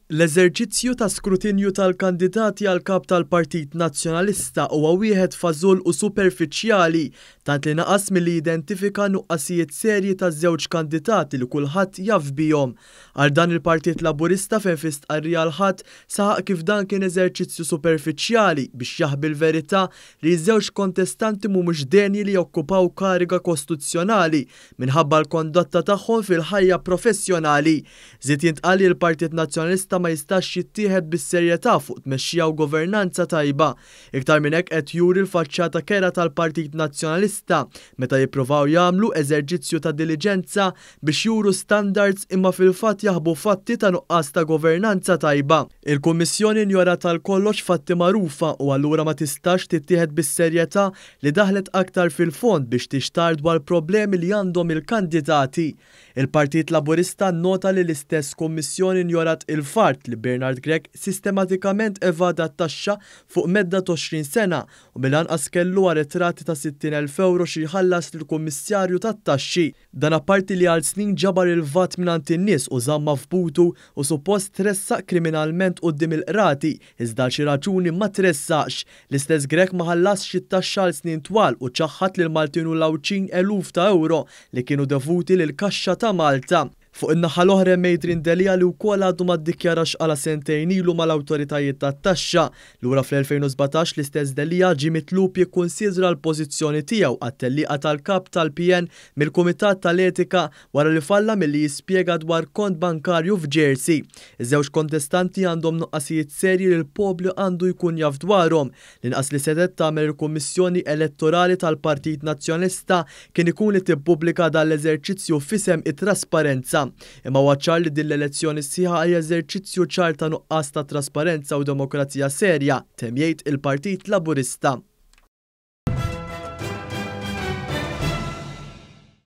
L-eżerċizzju ta' skrutinju tal-kandidati għal Kap tal-Partit Nazzjonalista huwa wieħed fażull u superfiċjali tant li naqas milli jidentifika nuqqasijiet serji taż-żewġ kandidati li kulħadd jaf bihom. Għal dan il-Partit Laburista fejn fi stqarrija l-Ħadd saħaq kif dan kien eżerċizzju superfiċjali biex jaħbi l-verità li ż-żewġ kontestanti mhumiex denji li jokkupaw kariga kostituzzjonali minħabba l-kondotta tagħhom fil-ħajja professjonali. Żied jintqal li l-Partit Nazzjonalista ma jistax jittieħed bis-serjetà fuq tmexxija u governanza tajba. Iktar minn hekk qed juri l-faċċata kerha tal-Partit Nazzjonalista meta jippruvaw jagħmlu eżerġizzju ta' diliġenza biex juru standards imma fil-fatt jaħbu fatti ta' nuqqas ta' governanza tajba. Il-Kummissjoni injorat għal kollox fatti magħrufa u allura ma tistax tittieħed bis-serjetà li daħlet aktar fil-fond biex tixtarr dwar problemi li għandhom il-kandidati. Il-Partit Laburista nnota li l-istess Kummissjoni injorat il-fatt li Bernard Grech sistematikament evada t-taxxa fuq medda t'20 sena u mill-anqas kellu arretrati ta' 60,000 ewro xi jħallas lill-Kummissarju tat-Taxxi. Dan apparti li għal snin ġabar il-VAT mingħand in-nies u żammha f'butu u suppost tressaq kriminalment quddiem il-qrati iżda għal xi raġuni ma tressaqx. L-istess Grech ma ħallasx it-taxxa għal snin twal u ċaħħad lill-Maltin u l-Għawdxin eluf ta' ewro li kienu dovuti lill-Kaxxa ta' Malta. Fuq in-naħa l-oħra hemm Adrian Delia li wkoll għadu ma ddikjarax x'qala sentejn ilu mal-awtoritajiet tat-taxxa. Lura fl-2017 l-istess Delia ġie mitlub jikkunsidra l-pożizzjoni tiegħu għat-tellieqa tal-Kap tal-PN mill-Kumitat tal-Etika wara li falla milli jispjega dwar kont bankarju f'Jersey. Iż-żewġ kontestanti għandhom nuqqasijiet serji li l-poplu għandu jkun jaf dwarhom. L-inqas li setgħet tagħmel il-Kummissjoni Elettorali tal-Partit Nazzjonalista kien ikun li tippubblika dan l-eżerċizzju f'isem it-trasparenza. Imma huwa ċar li din l-elezzjoni sħiħa hija eżerċizzju ċar ta' nuqqas ta' trasparenza u demokrazija serja, temm jgħid il-Partit Laburista.